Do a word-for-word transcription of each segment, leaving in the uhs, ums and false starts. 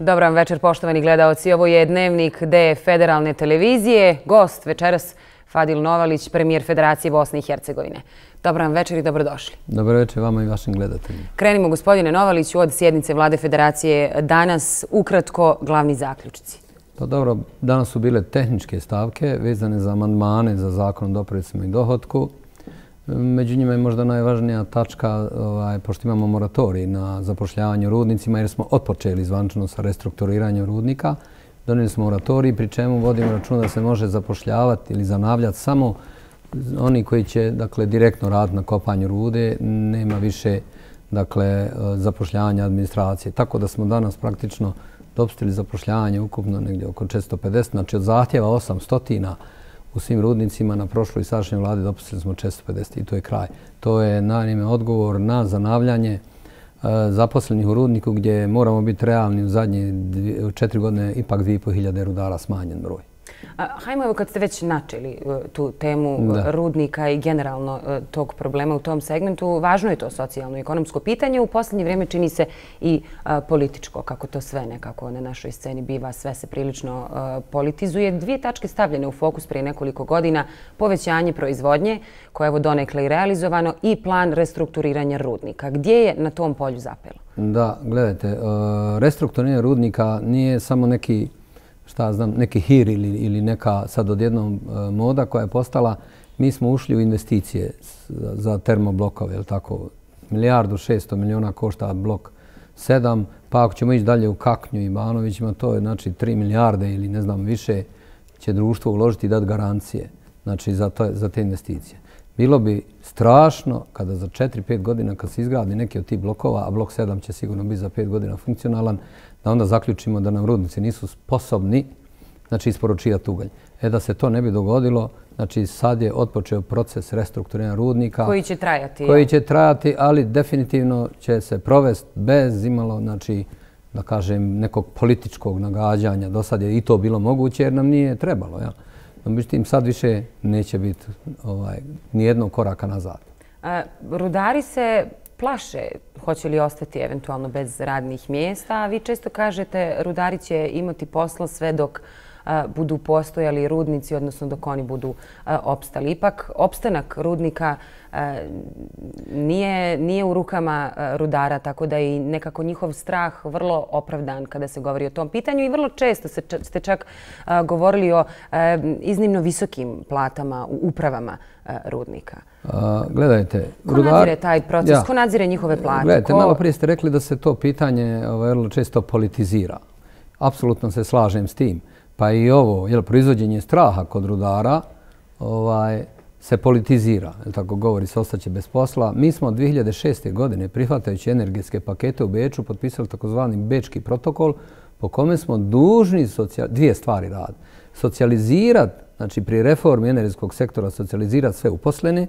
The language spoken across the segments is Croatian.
Dobar vam večer, poštovani gledaoci. Ovo je Dnevnik D federalne televizije. Gost večeras Fadil Novalić, premijer Federacije Bosne i Hercegovine. Dobar vam večer i dobrodošli. Dobar večer vama i vašim gledateljima. Krenimo, gospodine Novaliću, od sjednice Vlade Federacije danas. Ukratko, glavni zaključci. Pa dobro, danas su bile tehničke stavke vezane za amandmane za zakon o dopricama i dohotku. Među njima je možda najvažnija tačka, ovaj, pošto imamo moratorij na zapošljavanje rudnicima, jer smo otpočeli zvanično sa restrukturiranjem rudnika. Donijeli smo moratorij, pri čemu vodimo računa da se može zapošljavati ili zanavljati samo oni koji će, dakle, direktno raditi na kopanju rude. Nema više, dakle, zapošljavanja administracije. Tako da smo danas praktično dopustili zapošljavanje ukupno negdje oko četiristo pedeset, znači od zahtjeva osamsto u svim rudnicima na prošloj i sadašnjoj vladi dopustili smo četiristo pedeset i to je kraj. To je naime odgovor na zanavljanje zaposlenih u rudniku gdje moramo biti realni u zadnje četiri godine ipak dvije i pol hiljade rudara smanjen broj. Hajmo, evo kad ste već načeli tu temu rudnika i generalno tog problema u tom segmentu, važno je to socijalno i ekonomsko pitanje. U posljednje vrijeme čini se i političko, kako to sve nekako na našoj sceni biva, sve se prilično politizuje. Dvije tačke stavljene u fokus prije nekoliko godina, povećanje proizvodnje, koje je evo donekle i realizovano, i plan restrukturiranja rudnika. Gdje je na tom polju zapelo? Da, gledajte, restrukturiranje rudnika nije samo neki šta znam, neki hir ili, ili neka sad odjednom e, moda koja je postala. Mi smo ušli u investicije za, za termoblokove, je li tako? Milijardu šesto miliona košta blok sedam, pa ako ćemo ići dalje u Kaknju i Banovićima, to je znači tri milijarde ili ne znam više će društvo uložiti i dati garancije, znači za, to, za te investicije. Bilo bi strašno kada za četiri pet godina kad se izgradi neki od tih blokova, a blok sedam će sigurno biti za pet godina funkcionalan, da onda zaključimo da nam rudnici nisu sposobni, znači, isporučivati ugalj. E da se to ne bi dogodilo, znači sad je otpočeo proces restrukturiranja rudnika. Koji će trajati. Koji će trajati, ali definitivno će se provesti bez imalo, znači, da kažem, nekog političkog nagađanja. Do sad je i to bilo moguće jer nam nije trebalo. Ja. Međutim, sad više neće biti ovaj, nijednog koraka nazad. A, rudari se plaše hoće li ostati eventualno bez radnih mjesta, a vi često kažete rudari će imati posla sve dok a, budu postojali rudnici, odnosno dok oni budu a, opstali. Ipak, opstanak rudnika a, nije, nije u rukama a, rudara, tako da je nekako njihov strah vrlo opravdan kada se govori o tom pitanju i vrlo često se, ste čak a, govorili o a, iznimno visokim platama u upravama a, rudnika. A, gledajte, ko rudar... nadzire taj proces? Ja. Ko nadzire njihove plate? Gledajte, ko... malo prije ste rekli da se to pitanje vrlo često politizira. Apsolutno se slažem s tim. Pa i ovo, jel, proizvođenje straha kod rudara ovaj, se politizira, jel tako govori, se ostaće bez posla. Mi smo od dvije hiljade šeste. godine, prihvatajući energetske pakete u Beču, potpisali takozvani Bečki protokol po kome smo dužni socijal... dvije stvari raditi. Socijalizirati, znači pri reformi energetskog sektora, socijalizirati sve uposlene,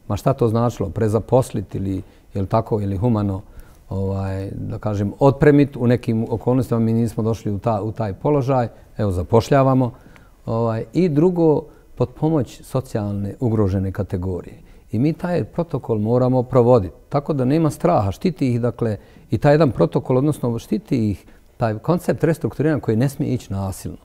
ma šta to značilo, prezaposliti ili, jel tako, ili humano, ovaj, da kažem, otpremiti. U nekim okolnostima mi nismo došli u, ta, u taj položaj. Evo, zapošljavamo. Ovaj, I drugo, pod pomoć socijalne ugrožene kategorije. I mi taj protokol moramo provoditi. Tako da nema straha. Štiti ih, dakle, i taj jedan protokol, odnosno štiti ih taj koncept restrukturiranja koji ne smije ići nasilno.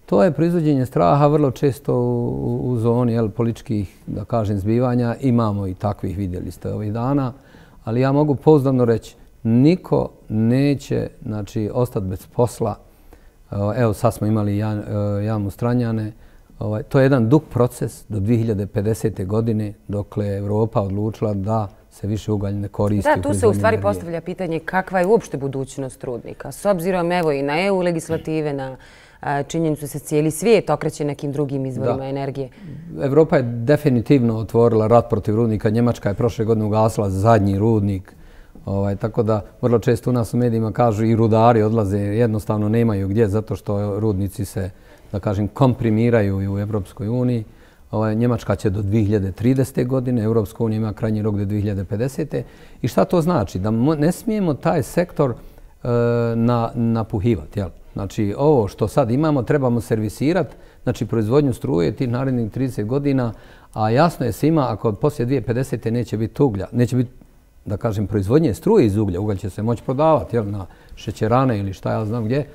To je proizvođenje straha vrlo često u, u zoni jel, političkih, da kažem, zbivanja. Imamo i takvih, vidjeli ste ovih dana. Ali ja mogu pouzdano reći, niko neće, znači, ostati bez posla. Evo, sad smo imali jamu Stranjane. To je jedan dug proces do dvije hiljade pedesete. godine, dokle je Evropa odlučila da se više ugalj ne koristi. Da, tu se u stvari postavlja pitanje kakva je uopšte budućnost rudnika. S obzirom evo i na E U legislative, na činjenicu se cijeli svijet okreće nekim drugim izvorima energije. Evropa je definitivno otvorila rat protiv rudnika. Njemačka je prošle godine ugasila zadnji rudnik. Ovaj, tako da vrlo često u nas u medijima kažu i rudari odlaze, jednostavno nemaju gdje zato što rudnici se, da kažem, komprimiraju i u Evropskoj uniji. Ovaj, Njemačka će do dvije hiljade tridesete. godine, Evropska unija ima krajnji rok do dvije hiljade pedesete. I šta to znači? Da ne smijemo taj sektor e, na, napuhivati, jel? Znači, ovo što sad imamo trebamo servisirati, znači proizvodnju struje tih narednih trideset godina, a jasno je svima ako poslije dvije hiljade pedesete. neće biti uglja, neće biti da kažem, proizvodnje struje iz uglja, ugalj će se moći prodavati jel, na šećerane ili šta ja znam gdje,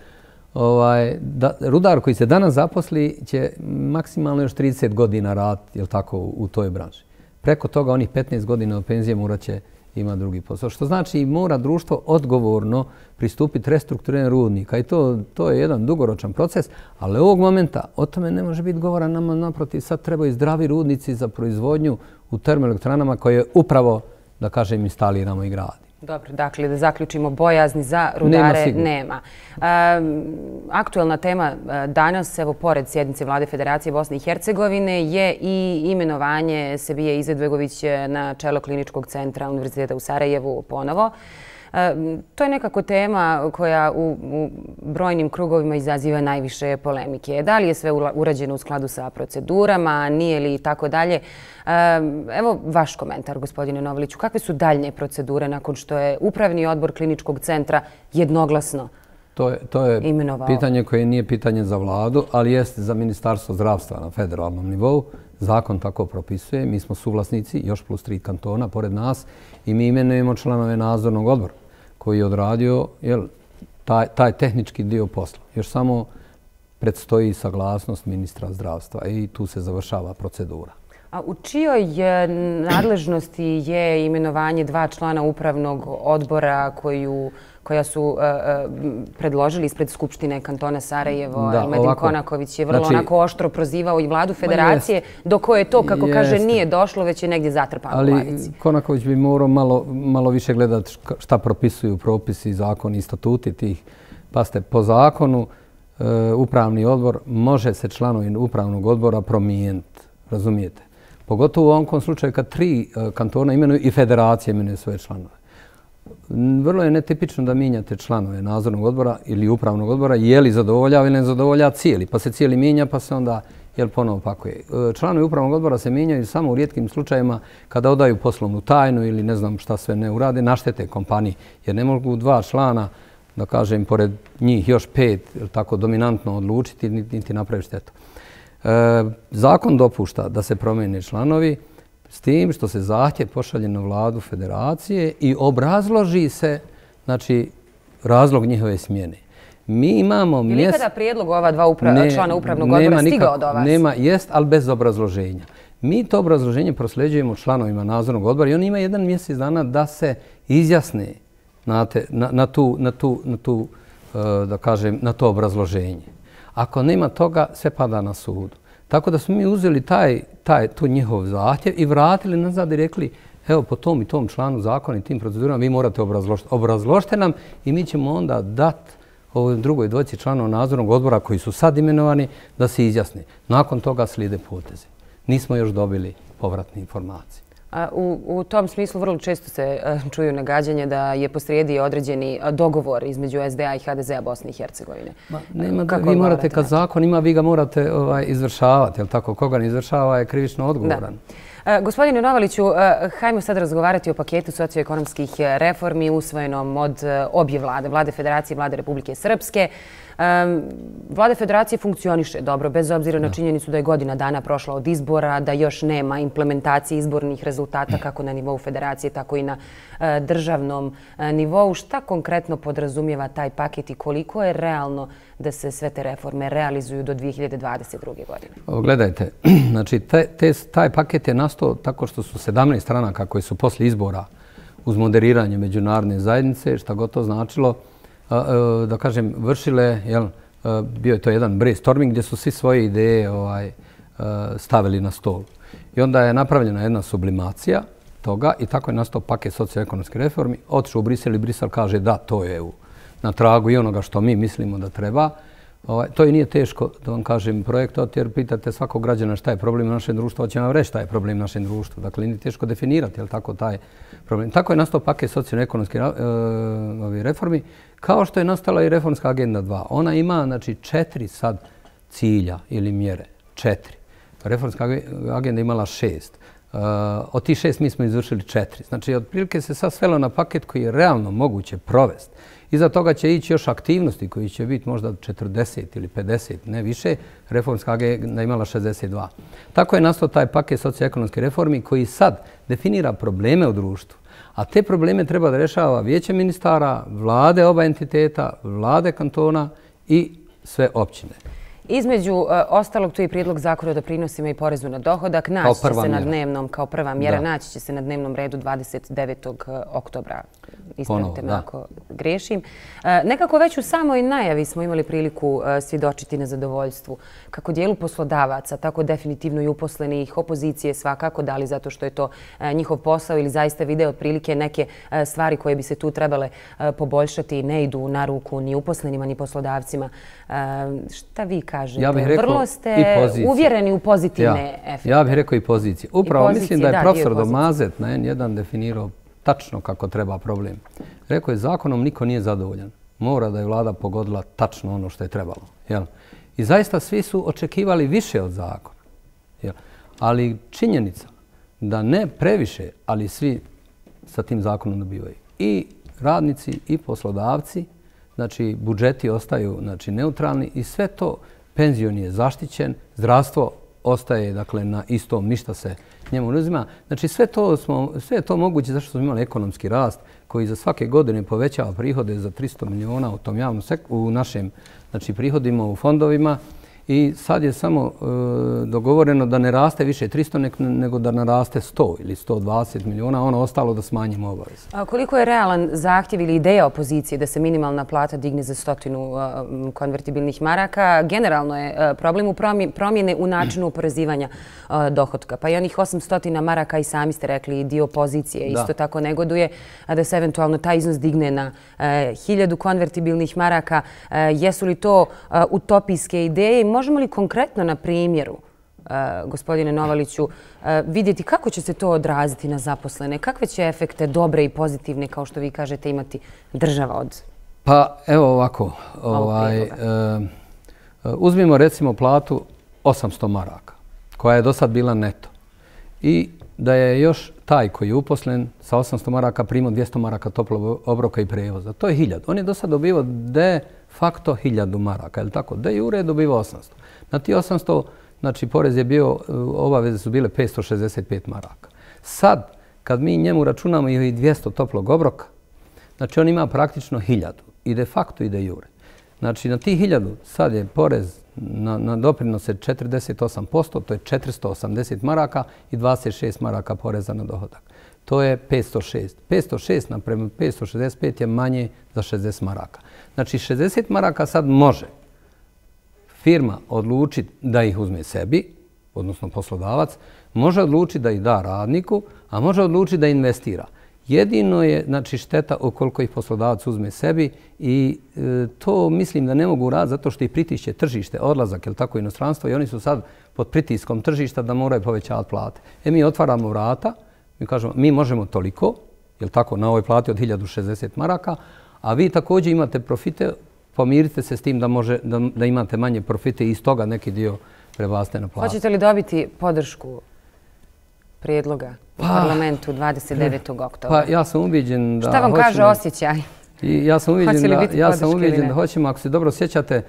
ovaj, da, rudar koji se danas zaposli će maksimalno još trideset godina raditi jel, tako, u, u toj branži. Preko toga onih petnaest godina od penzije morat će ima drugi posao. Što znači mora društvo odgovorno pristupiti restrukturiranju rudnika i to, to je jedan dugoročan proces, ali ovog momenta o tome ne može biti govora, nama naprotiv sad trebaju zdravi rudnici za proizvodnju u termoelektranama koje upravo, da kažem, instaliramo i gradimo. Dobro, dakle, da zaključimo, bojazni za rudare nema. nema. Um, aktuelna tema danas, evo, pored sjednice Vlade Federacije Bosne i Hercegovine, je i imenovanje Sebije Izetbegović na čelo Kliničkog centra Univerziteta u Sarajevu ponovo. To je nekako tema koja u, u brojnim krugovima izaziva najviše polemike. Da li je sve urađeno u skladu sa procedurama, nije li i tako dalje? Evo vaš komentar, gospodine Novaliću. Kakve su daljnje procedure nakon što je Upravni odbor Kliničkog centra jednoglasno To je, to je imenovao? Pitanje koje nije pitanje za vladu, ali jeste za Ministarstvo zdravstva na federalnom nivou. Zakon tako propisuje. Mi smo suvlasnici, još plus tri kantona pored nas i mi imenujemo članove nadzornog odbora koji je odradio jel, taj, taj tehnički dio posla. Još samo predstoji saglasnost ministra zdravstva i tu se završava procedura. A u čijoj nadležnosti je imenovanje dva člana upravnog odbora koju, koja su uh, predložili ispred Skupštine kantona Sarajevo? Da, Elmedin ovako, Konaković je vrlo znači, onako oštro prozivao i vladu federacije, do koje to, kako jeste. kaže, nije došlo, već je negdje zatrpano u ladici. Ali Konaković bi morao malo, malo više gledati šta propisuju propisi, zakoni i statuti tih. Paste, po zakonu uh, upravni odbor može se članovi upravnog odbora promijeniti, razumijete? Pogotovo u ovom slučaju kad tri kantona imenuju i federacije imenuju svoje članove. Vrlo je netipično da mijenjate članove nadzornog odbora ili upravnog odbora, je li zadovoljava ili ne zadovoljava cijeli, pa se cijeli mijenja pa se onda jel, ponovo pakuje. Članovi upravnog odbora se mijenjaju samo u rijetkim slučajevima kada odaju poslovnu tajnu ili ne znam šta sve ne urade, naštete kompaniji, jer ne mogu dva člana, da kažem, pored njih još pet, tako dominantno odlučiti niti napraviti štetu. E, zakon dopušta da se promijene članovi s tim što se zahtjev pošalje na vladu federacije i obrazloži se znači, razlog njihove smjene. Mi imamo mjest... Je li kada prijedlog ova dva upra... ne, člana upravnog odbora stigao do vas? Nema, jest, ali bez obrazloženja. Mi to obrazloženje prosljeđujemo članovima nadzornog odbora i oni imaju jedan mjesec dana da se izjasne na, te, na, na, tu, na, tu, na, tu, da kažem, na to obrazloženje. Ako nema toga, sve pada na sudu. Tako da smo mi uzeli taj, taj, tu njihov zahtjev i vratili nazad i rekli evo po tom i tom članu zakona i tim procedurama vi morate obrazložiti. Obrazložite nam i mi ćemo onda dati ovoj drugoj dvojici članova nadzornog odbora koji su sad imenovani da se izjasne. Nakon toga slijede poteze. Nismo još dobili povratne informacije. U, u tom smislu vrlo često se čuju nagađanje da je posrijedi određeni dogovor između S D A i H D Z-a Bosne i Hercegovine. Ma, nema da, vi morate, kad zakon ima, vi ga morate ovaj, izvršavati. Jel tako? Koga ne izvršava je krivično odgovoran. Da. Gospodine Novaliću, hajmo sad razgovarati o paketu socioekonomskih reformi usvojenom od obje vlade, Vlade Federacije i Vlade Republike Srpske. Vlada Federacije funkcioniše dobro, bez obzira na činjenicu da je godina dana prošla od izbora, da još nema implementacije izbornih rezultata kako na nivou Federacije, tako i na državnom nivou. Šta konkretno podrazumijeva taj paket i koliko je realno da se sve te reforme realizuju do dvije hiljade dvadeset druge. godine? O, gledajte, znači te, te, taj paket je nastao tako što su sedamnaest stranaka koje su posle izbora uz moderiranje međunarodne zajednice, šta god to značilo, da kažem, vršile, jel, bio je to jedan brainstorming gdje su svi svoje ideje ovaj, stavili na stol. I onda je napravljena jedna sublimacija toga i tako je nastao paket socioekonomske reformi. Otišao u Brisel i Brisel kaže da, to je na tragu i onoga što mi mislimo da treba. Ovaj, to i nije teško, da vam kažem, projektovati jer pitate svakog građana šta je problem u našem društvu, hoće vam reći šta je problem u našem društvu. Dakle, nije teško definirati, jel tako, taj problem. Tako je nastao paket socioekonomske uh, reformi, kao što je nastala i reformska agenda dva. Ona ima, znači, četiri sad cilja ili mjere. Četiri. Reformska agenda imala šest. Uh, od tih šest mi smo izvršili četiri. Znači, otprilike se sad svelo na paket koji je realno moguće provesti. Iza toga će ići još aktivnosti koji će biti možda četrdeset ili pedeset, ne više. Reformska agenda imala šezdeset dva. Tako je nastao taj paket socioekonomske reformi koji sad definira probleme u društvu, A te probleme treba da rešava vijeće ministara, vlade oba entiteta, vlade kantona i sve općine. Između uh, ostalog, tu je prijedlog zakona o doprinosima i porezu na dohodak. Naći će se na dnevnom, kao prva mjera, naći će se na dnevnom redu dvadeset devetog oktobra. Ispravite me ako grešim. Uh, nekako već u samoj najavi smo imali priliku uh, svjedočiti na zadovoljstvu kako dijelu poslodavaca, tako definitivno i uposlenih, opozicije svakako, da li zato što je to uh, njihov posao ili zaista vide otprilike neke uh, stvari koje bi se tu trebale uh, poboljšati, ne idu na ruku ni uposlenima ni poslodavcima. Uh, šta vi kažete? Ja bih rekao Vrlo ste uvjereni u pozitivne efekte. Ja bih rekao i pozicije. Upravo mislim da je profesor Domazet na en jedan definirao tačno kako treba problem. Rekao je zakonom niko nije zadovoljan. Mora da je vlada pogodila tačno ono što je trebalo. I zaista svi su očekivali više od zakona. Ali činjenica da ne previše, ali svi sa tim zakonom dobivaju. I radnici i poslodavci, znači budžeti ostaju znači, neutralni i sve to, penzion je zaštićen, zdravstvo ostaje dakle, na istom, ništa se njemu ne uzima. Znači sve to, smo, sve je to moguće zašto smo imali ekonomski rast koji za svake godine povećava prihode za tristo miliona u tom javnom sektoru, u našim znači, prihodima u fondovima. I sad je samo e, dogovoreno da ne raste više tristo nego da naraste sto ili sto dvadeset miliona, ono ostalo da smanjimo obaveze. A koliko je realan zahtjev ili ideja opozicije da se minimalna plata digne za stotinu uh, konvertibilnih maraka? Generalno je uh, problem u promjene u načinu oporezivanja uh, dohotka. Pa i onih osamsto maraka i sami ste rekli dio opozicije isto tako negoduje da se eventualno taj iznos digne na uh, hiljadu konvertibilnih maraka. Uh, jesu li to uh, utopijske ideje? Možemo li konkretno na primjeru, uh, gospodine Novaliću, uh, vidjeti kako će se to odraziti na zaposlene? Kakve će efekte dobre i pozitivne, kao što vi kažete, imati država od Pa evo ovako, ovaj, uh, uzmimo recimo platu osamsto maraka, koja je do sad bila neto. I da je još taj koji je uposlen sa osamsto maraka primao dvjesto maraka toplog obroka i prevoza. To je hiljadu. On je do sad dobivao de facto hiljadu maraka, je li tako? De jure je dobivao osamsto. Na ti osamsto, znači porez je bio, obaveze su bile petsto šezdeset pet maraka. Sad, kad mi njemu računamo i dvjesto toplog obroka, znači on ima praktično hiljadu. I de facto i de jure. Znači na ti hiljadu sad je porez na, na doprinose četrdeset osam posto, to je četiristo osamdeset maraka i dvadeset šest maraka poreza na dohodak. To je petsto šest. petsto šest naprema petsto šezdeset pet je manje za šezdeset maraka. Znači šezdeset maraka sad može firma odlučiti da ih uzme sebi, odnosno poslodavac, može odlučiti da ih da radniku, a može odlučiti da investira. Jedino je znači, šteta ukoliko ih poslodavac uzme sebi i e, to mislim da ne mogu raditi zato što ih pritišće tržište, odlazak ili tako inostranstvo i oni su sad pod pritiskom tržišta da moraju povećavati plate. E mi otvaramo vrata, mi kažemo mi možemo toliko, jel tako, na ovoj plati od hiljadu šezdeset maraka, a vi također imate profite, pomirite se s tim da, može, da, da imate manje profite i iz toga neki dio prebacite na platu. Hoćete li dobiti podršku prijedloga u pa, parlamentu dvadeset devetog oktobra? Pa ja sam ubiđen da Šta vam hoćemo, kaže osjećaj? I ja sam ubiđen da, ja sam ubiđen da hoćemo, ako se dobro sjećate,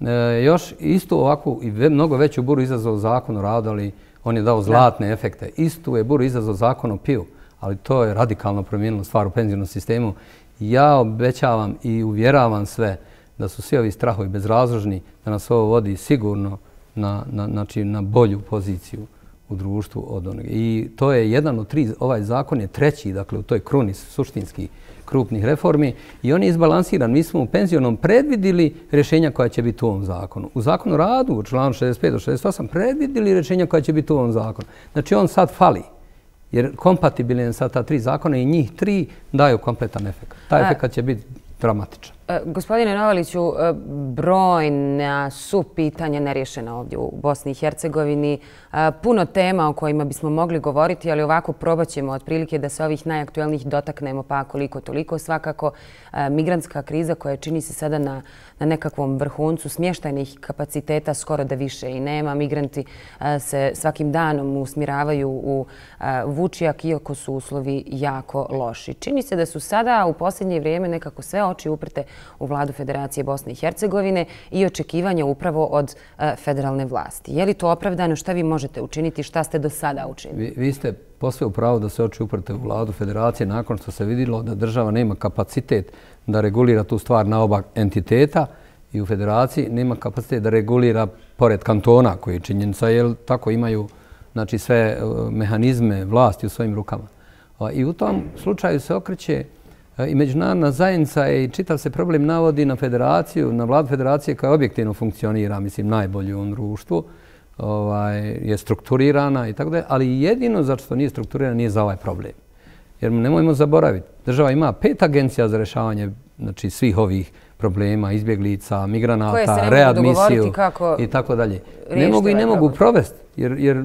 e, još istu ovakvu i ve, mnogo veću buru izazvao zakon o radu, ali on je dao zlatne da. efekte. Istu je buru izazvao zakon o piju, ali to je radikalno promijenilo stvar u penzijnom sistemu. Ja obećavam i uvjeravam sve da su svi ovi strahovi bezrazložni, da nas ovo vodi sigurno na, na, znači, na bolju poziciju u društvu od onoga. I to je jedan od tri, ovaj zakon je treći, dakle u toj kruni suštinski krupnih reformi i on je izbalansiran. Mi smo u penzionom predvidili rješenja koja će biti u ovom zakonu. U zakonu o radu, u članu šezdeset pet do šezdeset osam, predvidili rješenja koja će biti u ovom zakonu. Znači on sad fali, jer kompatibilan sa ta tri zakona i njih tri daju kompletan efekt. Taj efekt će biti dramatičan. Gospodine Novaliću, brojna su pitanja nerješena ovdje u Bosni i Hercegovini. Puno tema o kojima bismo mogli govoriti, ali ovako probat ćemo otprilike da se ovih najaktuelnijih dotaknemo pa koliko toliko. Svakako migrantska kriza koja čini se sada na, na nekakvom vrhuncu smještajnih kapaciteta skoro da više i nema. Migranti se svakim danom usmjeravaju u Vučjak iako su uslovi jako loši. Čini se da su sada u posljednje vrijeme nekako sve oči uprte u vladu Federacije Bosne i Hercegovine i očekivanja upravo od federalne vlasti. Je li to opravdano? Šta vi možete učiniti? Šta ste do sada učinili? Vi, vi ste posve u pravu da se oči uprte u vladu Federacije nakon što se vidjelo da država nema kapacitet da regulira tu stvar na oba entiteta i u Federaciji nema kapacitet da regulira pored kantona koji je činjenica, jer tako imaju znači, sve mehanizme vlasti u svojim rukama. I u tom slučaju se okreće i međunarodna zajednica i čitav se problem navodi na Federaciju, na vladu Federacije koja objektivno funkcionira, mislim, najbolje u ovom društvu, ovaj, je strukturirana i tako da, ali jedino zato što nije strukturirana nije za ovaj problem. Jer nemojmo zaboraviti, država ima pet agencija za rješavanje znači, svih ovih problema, izbjeglica, migranata, readmisiju i tako dalje. Ne mogu i ne mogu provesti, jer, jer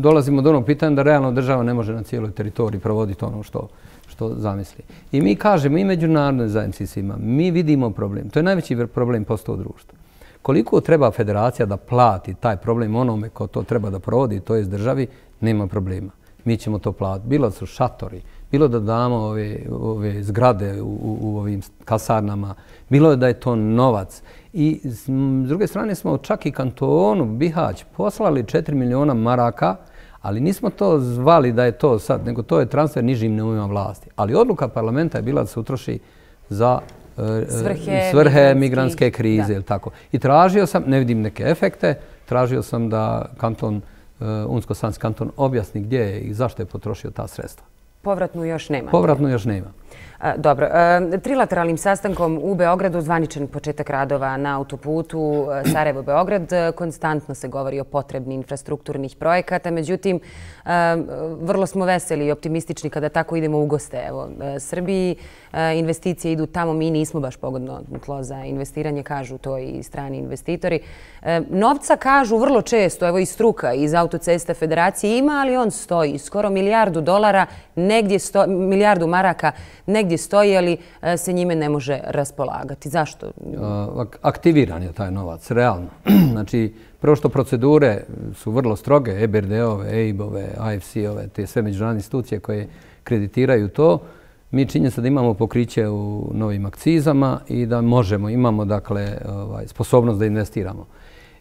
dolazimo do onog pitanja da realno država ne može na cijeloj teritoriji provoditi ono što, što zamisli. I mi kažemo i međunarodnoj zajednici svima, mi vidimo problem. To je najveći problem postao u društvu. Koliko treba federacija da plati taj problem onome ko to treba da provodi, to je državi, nema problema. Mi ćemo to platiti. Bilo su šatori, bilo da damo ove, ove zgrade u, u, u ovim kasarnama, bilo je da je to novac. I s druge strane smo čak i kantonu Bihać poslali četiri miliona maraka, ali nismo to zvali da je to sad, nego to je transfer nižim nivoima vlasti. Ali odluka parlamenta je bila da se utroši za svrhe, svrhe migrantske krize. Tako. I tražio sam, ne vidim neke efekte, tražio sam da kanton, Unsko-Sanski kanton objasni gdje je i zašto je potrošio ta sredstva. Povratnu još nema. Povratnu još nema. Dobro. Trilateralnim sastankom u Beogradu zvaničan početak radova na autoputu Sarajevo-Beograd. Konstantno se govori o potrebni infrastrukturnih projekata. Međutim, vrlo smo veseli i optimistični kada tako idemo u goste. Evo, Srbiji investicije idu tamo. Mi nismo baš pogodno tlo za investiranje, kažu to i strani investitori. Novca kažu vrlo često, evo i struka iz autocesta Federacije ima, ali on stoji. Skoro milijardu dolara, negdje sto, milijardu maraka, negdje stoji, ali se njime ne može raspolagati. Zašto? Aktiviran je taj novac, realno. Znači, prvo što procedure su vrlo stroge, E B R D-ove, E I B-ove, A F C-ove, te sve međunarodne institucije koje kreditiraju to, mi činjenica da imamo pokriće u novim akcizama i da možemo, imamo dakle ovaj, sposobnost da investiramo.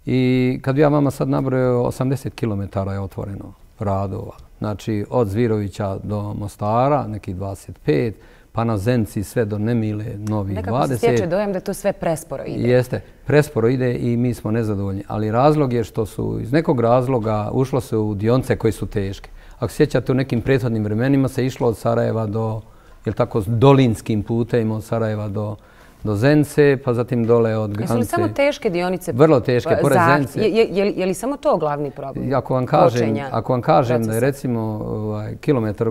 I kad bi ja vama sad nabrojao, osamdeset kilometara je otvoreno radova. Znači, od Zvirovića do Mostara, neki dvadeset pet, pa na Zenci sve do Nemile, novi dvadeset. Nekako se stječe dojam da to sve presporo ide. Jeste, presporo ide i mi smo nezadovoljni. Ali razlog je što su iz nekog razloga ušlo se u dionce koje su teške. Ako sjećate, u nekim prethodnim vremenima se išlo od Sarajeva do, jel tako, dolinskim putem od Sarajeva do do Zence, pa zatim dole od granice. Jesu li samo teške dionice? Vrlo teške, pored Zence. Je, je, je li samo to glavni problem? Ako vam kažem, ako vam kažem da je recimo ovaj, kilometar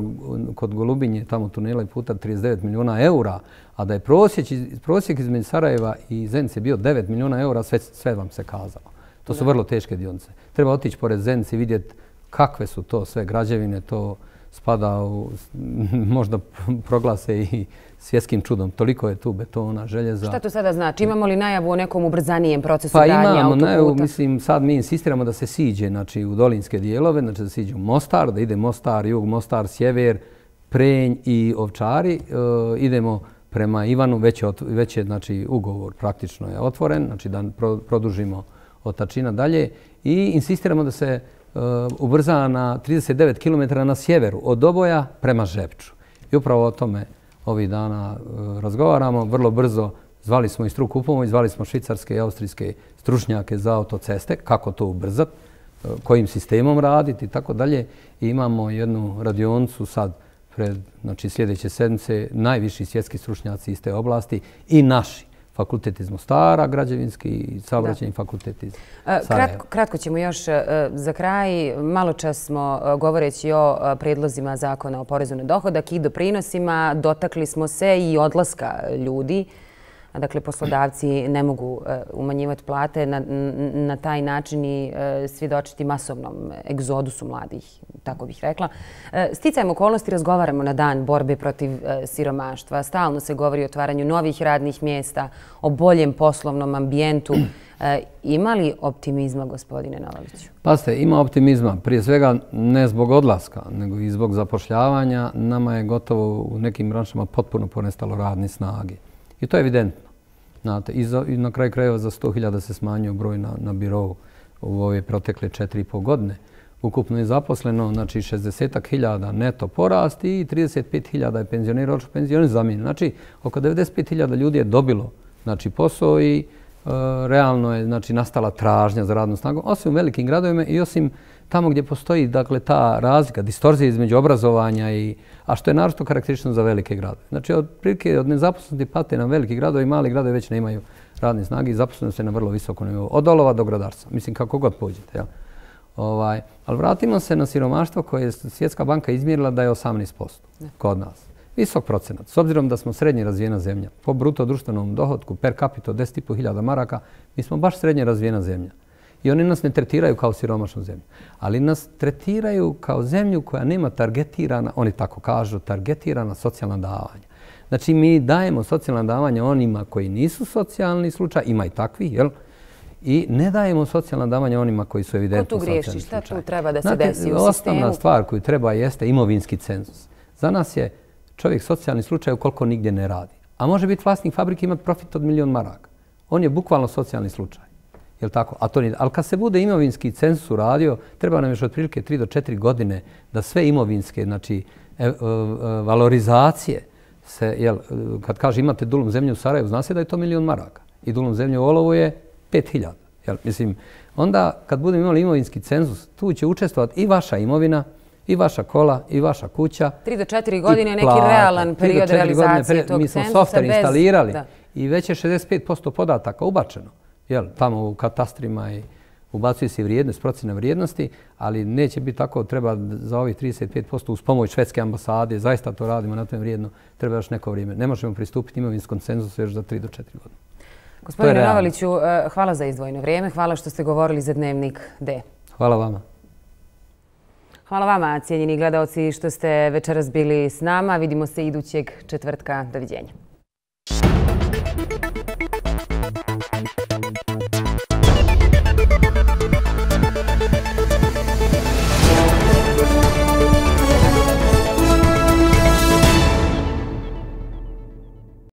kod Golubinje, tamo tunela i puta trideset devet milijuna eura, a da je prosjek, prosjek između Sarajeva i Zence bio devet milijuna eura, sve, sve vam se kazalo. To su da. Vrlo teške dionice. Treba otići pored Zence i vidjeti kakve su to sve građevine, to spada u, možda proglase i svjetskim čudom. Toliko je tu betona, željeza. Šta to sada znači? Imamo li najavu o nekom ubrzanijem procesu pa gradnje autoputa? Pa imamo najavu, mislim, sad mi insistiramo da se siđe znači, u dolinske dijelove, znači da siđe u Mostar, da ide Mostar, jug, Mostar, sjever, Prenj i Ovčari. E, idemo prema Ivanu, već je, već je znači, ugovor praktično je otvoren, znači da pro, produžimo od Tačina dalje i insistiramo da se uh, ubrza na trideset devet kilometara na sjeveru od Doboja prema Žepču. I upravo o tome ovih dana uh, razgovaramo. Vrlo brzo zvali smo i struku u pomoć, zvali smo švicarske i austrijske stručnjake za autoceste, kako to ubrzati, uh, kojim sistemom raditi i tako dalje. I imamo jednu radionicu sad pred znači, sljedeće sedmice, najviši svjetski stručnjaci iz te oblasti i naši. Fakultet iz Mostara, građevinski i saobraćajni fakultet iz Sarajeva. Kratko, kratko ćemo još za kraj. Malo čas smo govoreći o predlozima zakona o porezu na dohodak i doprinosima. Dotakli smo se i odlaska ljudi. Dakle, poslodavci ne mogu umanjivati plate na, na taj način i svjedočiti masovnom egzodusu mladih, tako bih rekla. Sticajem okolnosti razgovaramo na dan borbe protiv siromaštva. Stalno se govori o otvaranju novih radnih mjesta, o boljem poslovnom ambijentu. Ima li optimizma, gospodine Novaliću? Pazite, ima optimizma. Prije svega ne zbog odlaska, nego i zbog zapošljavanja. Nama je gotovo u nekim branšama potpuno ponestalo radne snage. I to je evidentno. Znate, i, za, i na kraju krajeva za sto hiljada se smanjio broj na, na birovu u ove protekle četiri i pol godine. Ukupno je zaposleno, znači šezdeset hiljada neto porast i trideset pet hiljada je penzionera, odšlo penzioni zamijenjeni. Znači, oko devedeset pet hiljada ljudi je dobilo znači, posao i e, realno je znači, nastala tražnja za radnom snagom, osim u velikim gradovima i osim tamo gdje postoji dakle, ta razlika, distorzija između obrazovanja i, a što je naročito karakteristično za velike gradove. Znači, od prilike od nezaposlenosti pate na veliki gradovi i mali gradovi već ne imaju radne snage i zaposleno se na vrlo visokom nivou. Od olova do gradarstva. Mislim, kako god pođete. Jel? Ovaj, ali vratimo se na siromaštvo koje je Svjetska banka izmjerila da je osamnaest posto kod nas. Visok procenat. S obzirom da smo srednje razvijena zemlja, po bruto društvenom dohotku per capita od deset i pol hiljada maraka, mi smo baš srednje razvijena zemlja. I oni nas ne tretiraju kao siromašnu zemlju. Ali nas tretiraju kao zemlju koja nema targetirana, oni tako kažu, targetirana socijalna davanja. Znači mi dajemo socijalna davanja onima koji nisu socijalni slučaj, ima i takvi, jel? I ne dajemo socijalna davanja onima koji su evidentno socijalni slučaj. Ko tu griješi? Šta tu treba da se Znate, desi u sistemu? Osnovna stvar koju treba jeste imovinski cenzus. Za nas je čovjek socijalni slučaj ukoliko nigdje ne radi. A može biti vlasnik fabrike i imati profit od milion maraka. On je bukvalno socijalni slučaj. Jel tako? A to nije. Ali kad se bude imovinski cenzus uradio, treba nam još otprilike tri do četiri godine da sve imovinske, znači e, e, e, valorizacije se, jel, kad kaže imate dulum zemlje u Sarajevu, zna se da je to milion maraka. I dulum zemlje u Olovu je pet hiljada. Jel, mislim, onda kad budemo imali imovinski cenzus, tu će učestvovati i vaša imovina, i vaša kola, i vaša kuća. Tri do četiri godine je neki realan period realizacije tog cenzusa. Mi smo softver instalirali i već je šezdeset pet posto podataka ubačeno. Jel, tamo u katastrima i ubacuje se vrijednost, procjena vrijednosti, ali neće biti tako, treba za ovih trideset pet posto uz pomoć švedske ambasade, zaista to radimo na tom vrijedno, treba još neko vrijeme. Ne možemo pristupiti imovinskom cenzusu još za tri do četiri godine. Gospodine Novaliću, hvala za izdvojeno vrijeme, hvala što ste govorili za Dnevnik D. Hvala vama. Hvala vama, cijenjeni gledaoci, što ste večeras bili s nama. Vidimo se idućeg četvrtka. Doviđenja.